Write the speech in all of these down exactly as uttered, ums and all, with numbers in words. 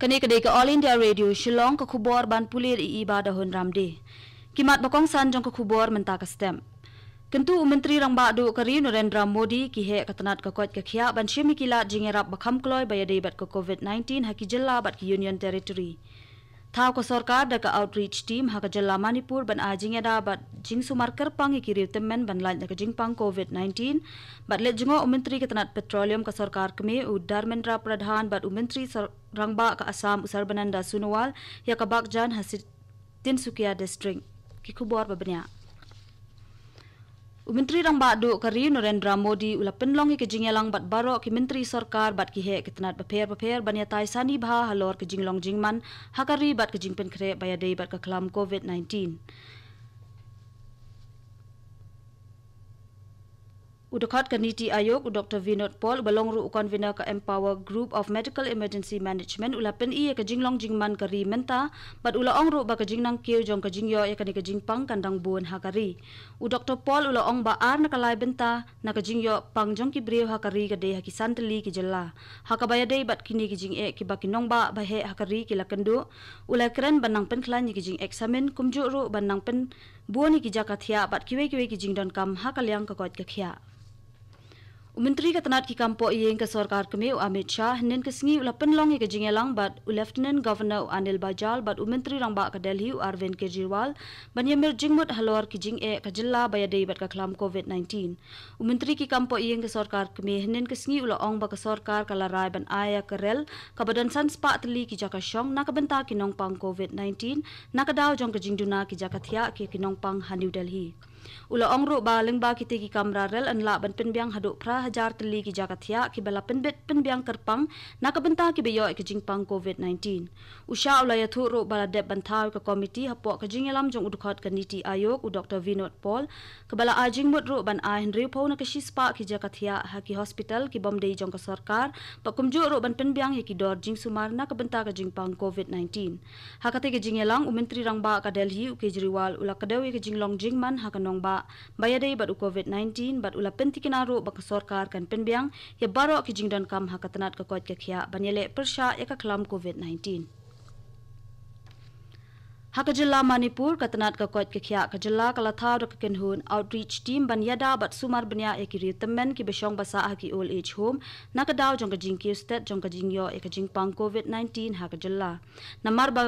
Kane ka dei ka All India Radio Shillong, ka khubor ban pule da i Iba Dahun Ramde. Ki mat ba kongsan jong ka khubor mynta ka step. Kyntu u Myntri Rangbah Duh ka ri Narendra Modi ki heh ka tnat ka koit ka khiah ban shim ïa ki lad jingïarap ba kham kloi ba ïadei bad ka covid nineteen ha ki jylla bad ki Union Territory. Thaw ka sorkar da ka outreach team ha ka jylla Manipur ban ai jingïada bad jingsumar kyrpang ïa ki riew tymmen ban lait na ka jingpang covid nineteen. Bad leit jngoh u Myntri ka tnat Petroleum ka sorkar kmie u Dharmendra Pradhan bad u Myntri sor-, Rangbah ka Assam u Sarbananda Sonowal ïa ka bakjan ha Tinsukia District. Ki khubor ba bniah. U Myntri Rangbah Duh ka ri Narendra Modi u la pynlong ïa ka jingïalang bad baroh ki myntri sorkar bad ki heh ki tnat bapher bapher ban ïatai sani bha halor ka jinglong jingman ha ka ri bad ka jingpynkhreh ba ïadei bad ka khlam covid nineteen. U dkhot ka NITI Aayog u Doctor Vinod Paul uba long ruh u convener ka Empower Group of Medical Emergency Management u la pyni ïa ka jinglong jingman ka ri mynta bad u la ong ruh ba ka jingnang kiew jong ka jingïoh ïa kane ka jingpang kan dang bun ha ka ri. U Doctor Paul u la ong ba ar na ka lai bynta na ka jingïoh pang jong ki briew ha ka ri ka dei ha ki san tylli ki jylla. Ha kaba ïadei bad kine ki jingeh kiba ki nongbah ba heh ha ka ri ki la kynduh, u la kren ban nang pynkhlaiñ ïa ki jingexamine kumjuh ruh ban nang pynbun ïa ki jaka thiah bad kiwei kiwei ki jingdonkam ha ka liang ka koit ka khiah. U Myntri ka tnat ki kam poh ïing ka sorkar kmie u Amit Shah hynnin ka sngi u la pynlong ïa ka jingïalang bad u Lieutenant Governor u Anil Baijal bad u Myntri Rangbah ka Delhi u Arvind Kejriwal ban ïamir jingmut halor ki jingeh ka jylla ba ïadei bad ka khlam covid nineteen. U Myntri ki kam poh ïing ka sorkar kmie hynnin ka sngi u la ong ba ka sorkar ka la rai ban ai ïa ka rel kaba don san spah tylli ki jaka shong na ka bynta ki nongpang covid nineteen na ka daw jong ka jingduna ki jaka thiah ki, ki nongpang ha New Delhi. U la ong ruh ba lyngba kite ki kamra rel yn lah ban pynbiang haduh phra hajar tylli ki jaka thiah kiba la pynbit pynbiang kyrpang na ka bynta kiba ïoh ïa ka jingpang covid nineteen. U Shah u la ïathuh ruh ba la dep ban thaw ïa ka komiti hapoh ka jingïalam jong u dkhot ka NITI Aayog u Doctor Vinod Paul kaba la ai jingmut ruh ban ai hynriewphew na ka shispah ki jaka thiah ha ki hospital kibym dei jong ka sorkar bad kumjuh ruh ban pynbiang ïa ki dor jingsumar na ka bynta ka jingpang covid nineteen. Ha kata ka jingïalang u Myntri Rangbah ka Delhi u Kejriwal u la kdew ïa ka jinglong jingman ha ka nongbah ba ïadei bad u covid nineteen bad u la pyntikna ruh ba ka sorkar kan pynbiang ïa baroh ki jingdonkam ha ka tnat ka koit ka khiah ban ïaleh pyrshah ïa ka khlam covid nineteen. Ha ka jylla Manipur ka tnat ka koit ka khiah ka jylla ka la thaw da ka kynhun outreach team ban ïada bad sumar bniah ïa ki riew tymmen kiba shong ba sah ha ki old age home na ka daw jong ka jingkiew stet jong ka jingïoh ïa ka jingpang covid nineteen ha ka jylla. Namar ba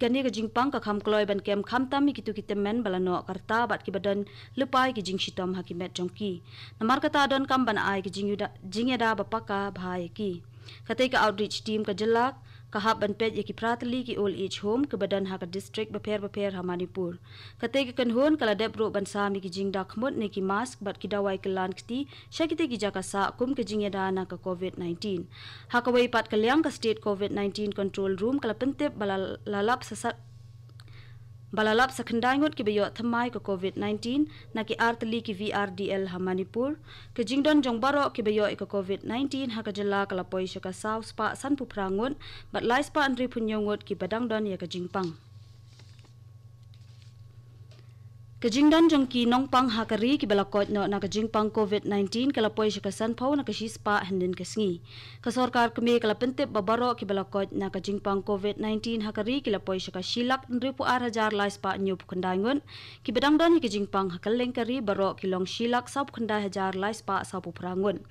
kane ka jingpang ka kham kloi ban kem khamtam ïa kito ki tymmen ba la noh ka rta bad kiba don lypa ïa ki jingshitom ha ki met jong ki. Namar kata donkam ban ai ki jingïada, jingïada ba paka bha ïa ki. Kata ka outreach team ka jylla ka hap ban peit ïa ki phra tylli ki old age home kiba don ha ka district bapher bapher ha Manipur. Kata ka kynhun ka la dep ruh ban sam ïa ki jingda khmut ne ki mask bad ki dawai kyllan kti sha kite ki jaka sah kum ka jingïada na ka covid nineteen. Ha kawei pat ka liang ka State covid nineteen Control Room ka la pyntip ba la, la lap sa sat ba la lap sa khyndai ngut kiba ïoh thymmai ka covid nineteen na ki ar tylli ki V R D L ha Manipur. Ka jingdon jong baroh kiba ïoh ïa ka covid nineteen ha ka jylla ka la poi sha ka saw spah sanphew phra ngut bad lai spah hynriewphew hynñiew ngut kiba dang don ïa ka jingpang. Ka jingdon jong ki nongpang ha ka ri kiba la koit noh na ka jingpang covid nineteen ka la poi sha ka sanphew na ka shispah hynnin ka sngi. Ka sorkar kmie ka la pyntip ba baroh kiba la koit na ka jingpang covid nineteen ha ka ri ki la poi sha ka shi lak hynriewphew ar hajar lai spah hynñiewphew khyndai ngut. Kiba dang don ïa ka jingpang ha kylleng ka ri baroh ki long shi lak sawphew khyndai hajar lai spah sawphew phra ngut.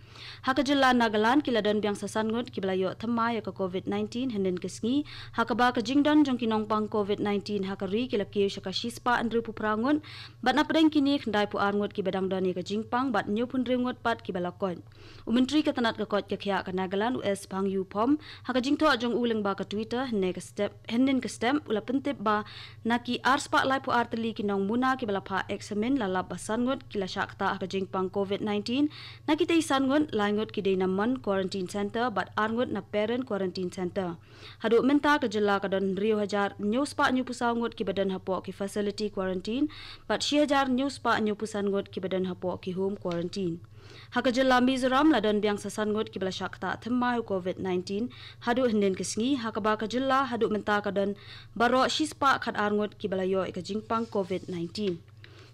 Ha ka jylla Nagaland ki la don biang sa san ngut kiba la ïoh thymmai ïa ka covid nineteen hynnin ka sngi. Ha kaba ka jingdon jong ki nongpang covid nineteen ha ka ri ki la kiew sha ka shispah hynriewphew phra ngut. Bad na pdeng kine khyndaiphew ar ngut kiba dang don ïa ka jingpang bad hynñiewphew hynriew ngut pat kiba la koit. U Myntri ka tnat ka koit ka khiah ka Nagaland u S Bhangyu Phom ha ka jingthoh jong u lyngba ka Twitter hynne ka step, hynnin ka step u la pyntip ba na ki ar spah laiphew ar tylli ki nongmuna kiba la phah examine la lap ba san ngut ki la shah ktah ha ka jingpang covid nineteen, na kitei san ngut, lai ngut ki dei na Mon Quarantine Center bad ar ngut na Peren Quarantine Center. Haduh mynta ka jylla ka don hynriew hajar hynñiew spah hynñiewphew saw ngut kiba don hapoh ki facility quarantine bad shi hajar hynñiew spah hynñiewphew san ngut kiba don hapoh ki home quarantine. Ha ka jylla Mizoram la don biang sa san ngut kiba la shah ktah thymmai u covid nineteen haduh hynnin ka sngi, ha kaba ka jylla haduh mynta ka don baroh shi spah khat ar ngut kiba la ïoh ïa ka jingpang covid nineteen.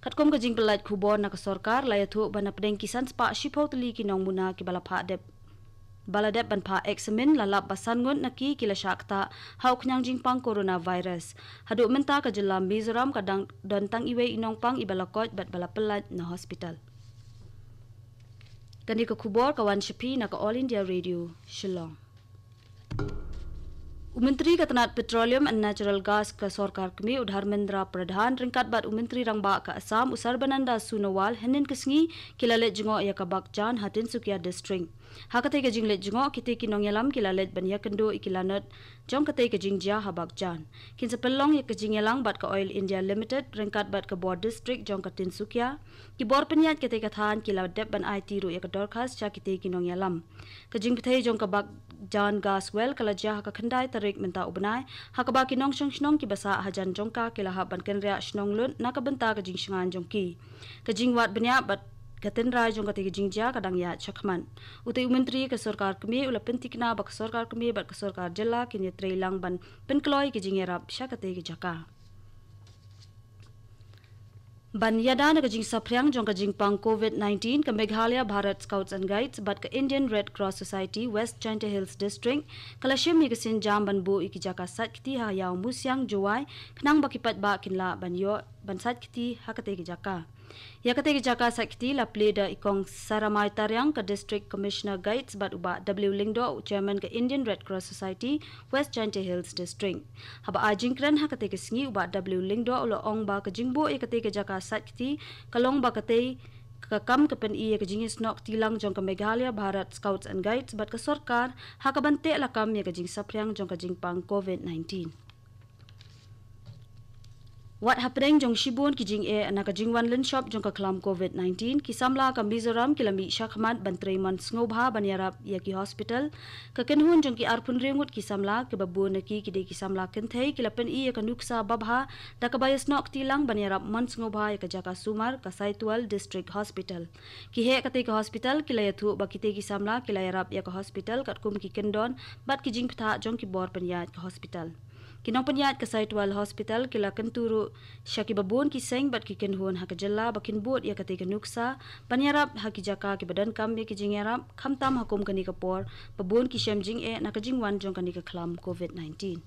Katkum ka jingpyllait khubor na ka sorkar la ïathuh ba na pdeng ki san spah shiphew tylli ki nongmuna kiba la phah dep ba la dep ban phah eksamin la lap ba san ngut na ki ki la shah ktah ha u khñiang jingpang coronavirus. Haduh mynta ka jylla Mizoram ka dang don tang iwei i nongpang iba la koit bad ba la pyllait na hospital. Kane ka khubor ka wan sha phi na ka All India Radio, Shillong. U Myntri ka tnat Petroleum and Natural Gas ka sorkar kmie u Dharmendra Pradhan ryngkat bad u Myntri Rangbah ka Assam u Sarbananda Sonowal hynnin ka sngi ki la leit jngoh ïa ka Bakjan ha Tinsukia District. Ha katei ka jingleit jngoh kitei ki nongïalam ki la leit ban ïakynduh ïa ki lanot jong katei ka jingjia ha Bakjan. Kin sa pynlong ïa ka jingïalang bad ka Oil India Limited ryngkat bad ka bor district jong ka Tinsukia. Ki bor pynïaid katei ka thaiñ ki la dep ban aiti ruh ïa ka dorkhas sha kitei ki nongïalam. Ka jingpyrthei jong ka Bakjan Gas Well ka la jia ha ka khyndai tarik mynta u bnai, ha kaba ki nongshong shnong kiba sah hajan jong ka ki la hap ban kynriah shnong lut na ka bynta ka jingshngaiñ jong ki. Ka jingwad bniah bad ka tynrai jong katei ka jingjia ka dang ïaid shakhmat. Utei u Myntri ka sorkar kmie u la pynthikna ba ka sorkar kmie bad ka sorkar jylla kin ïatrei lang ban pynkloi ka jingïarap sha katei ka jaka. Ban ïada na ka jingsaphriang jong ka jingpang COVID nineteen, ka Meghalaya Bharat Scouts and Guides bad ka Indian Red Cross Society West Jaintia Hills District ka la shim ïa ka sienjam ban buh ïa ki jaka sait kti ha Ïaw Musiang Jowai, khnang ba ki paidbah kin lah ban ïoh ban sait kti ha katei ka jaka. Ïa katei ka jaka sait kti la plie da i Kong Saramai Tariang ka District Commissioner Guides bad u Bah W Lyngdoh u Chairman ka Indian Red Cross Society West Jaintia Hills District. Haba ai jingkren ha katei ka sngi u Bah W Lyngdoh u la ong ba ka jingbuh ïa katei ka jaka sait kti ka long ba katei ka kam ka pyni ïa ka jingïasnoh kti lang jong ka Meghalaya Bharat Scouts and Guides bad ka sorkar ha kaban teh lakam ïa ka jingsaphriang jong ka jingpang COVID nineteen. Wat hapdeng jong shibun ki jingeh na ka jingwan lynshop jong ka khlam COVID nineteen, ki samla ka Mizoram ki la mih shakhmat ban trei mon sngewbha ban ïarap ïa ki hospital. Ka kynhun jong ki arphew hynriew ngut ki samla, kiba bun na ki ki dei ki samla kynthei, ki la pyni ïa ka nuksa babha da kaba ïasnoh kti lang ban ïarap mon sngewbha ïa ka jaka sumar ka Saitual District Hospital. Ki heh katei ka hospital ki la ïathuh ba kitei ki samla ki la ïarap ïa ka hospital katkum ki kyndon bad ki jingbthah jong ki bor pynïaid ka hospital. Ki nongpynïaid ka Saitual Hospital ki la kyntu ruh sha kiba bun ki seng bad ki kynhun ha ka jylla ba kin bud ïa katei ka nuksa ban ïarap ha ki jaka kiba donkam ïa ki jingïarap, khamtam ha kum kane ka por ba bun ki shem jingeh na ka jingwan jong kane ka khlam COVID nineteen.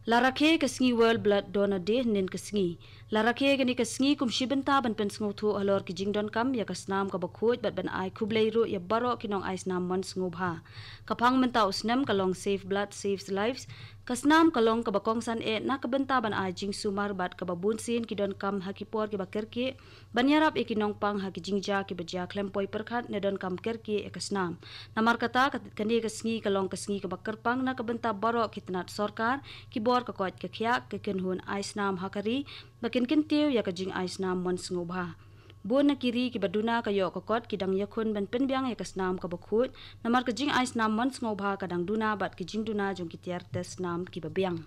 La rakhe ka sngi World Blood Donor Day hynnin ka sngi. La rakhe kane ka sngi kum shi bynta ban pynsngewthuh halor ki jingdonkam ïa ka snam kaba khuid bad ban ai khublei ruh ïa baroh ki nongai snam mon sngewbha. Ka phang mynta u snem ka long Save Blood, Saves Lives. Ka snam ka long kaba kongsan eh na ka bynta ban ai jingsumar bad kaba bun sien ki donkam ha ki por kiba kyrkieh ban ïarap ïa ki nongpang ha ki jingjia kiba jia khlem poi pyrkhat ne donkam kyrkieh ïa ka snam. Namar kata ka, kane ka sngi ka long ka sngi kaba kyrpang na ka bynta baroh ki tnat sorkar, ki bor ka koit ka khiah, ki kynhun ai snam ha ka ri, ba kin kyntiew ïa ka jingai snam mon sngewbha. Bun na ki ri kiba duna ka ïoh ka kot ki dang ïakhun ban pynbiang ïa ka snam kaba khuid, namar ka jingai snam mon sngewbha ka dang duna bad ki jingduna jong ki tiar test snam kiba biang.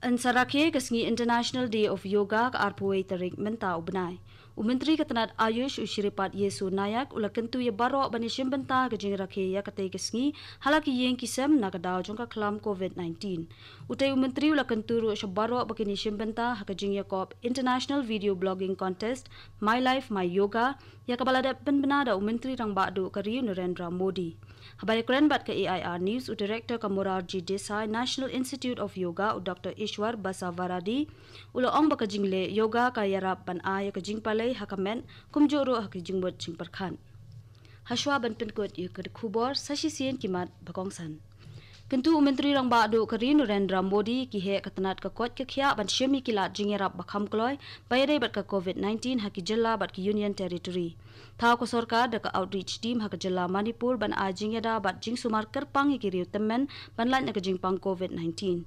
Yn sa rakhe ka sngi International Day of Yoga ka arphew wei tarik mynta u bnai. U Myntri ka tnat Ayush u Shripad Yeso Nayak u la kyntu ïa baroh ban ïashim bynta ka jingrakhe ïa katei ka sngi ha la ki ïing ki sem na ka daw jong ka khlam COVID nineteen. Utei u Myntri u la kyntu ruh sha baroh ba kin ïashim bynta ha ka jingïakop International Video Blogging Contest My Life My Yoga, ïa kaba la dep pynbna da u Myntri Rangbah Duh ka ri u Narendra Modi. Haba ïakren bad ka A I R News, u Director ka Morarji Desai National Institute of Yoga, u Doctor Ishwar Basavaradi, u la ong ba ka jingleh yoga ka ïarap ban ai ïa ka jingpalei ha ka met, kumjuh ruh ha ka jingmut jingpyrkhat. Hashwa ban pynkut ïa ka khubor, sa shisien ki mat ba kongsan. Kyntu u Myntri Rangbah Duh ka ri u Narendra Modi ïa ki heh ka tnat ka koit ka khiah ban shim ïa ki lad jingïarap ba kham kloi ba ïadei bad ka COVID nineteen ha ki jylla bad ki Union Territory. Thaw ka sorkar da ka outreach team ha ka jylla Manipur ban ai jingïada bad jingsumar kyrpang ïa ki riew tymmen ban lait na ka jingpang COVID nineteen.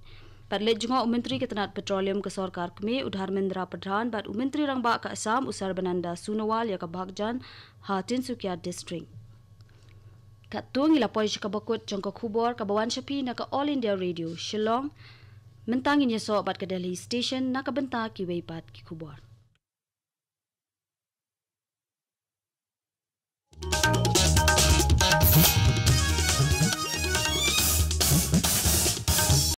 Bad leit jngoh u Myntri ka tnat Petroleum ka sorkar kmie u Dharmendra Pradhan bad u Myntri Rangbah ka Assam u Sarbananda Sonowal ïa ka Bakjan ha Tinsukia District. Katto ngi la poi sha kaba kut jong ka khubor kaba wan sha phi na ka All India Radio Shillong. Mynta ngin ïasoh bad ka Delhi Station na ka bynta kiwei pat ki khubor.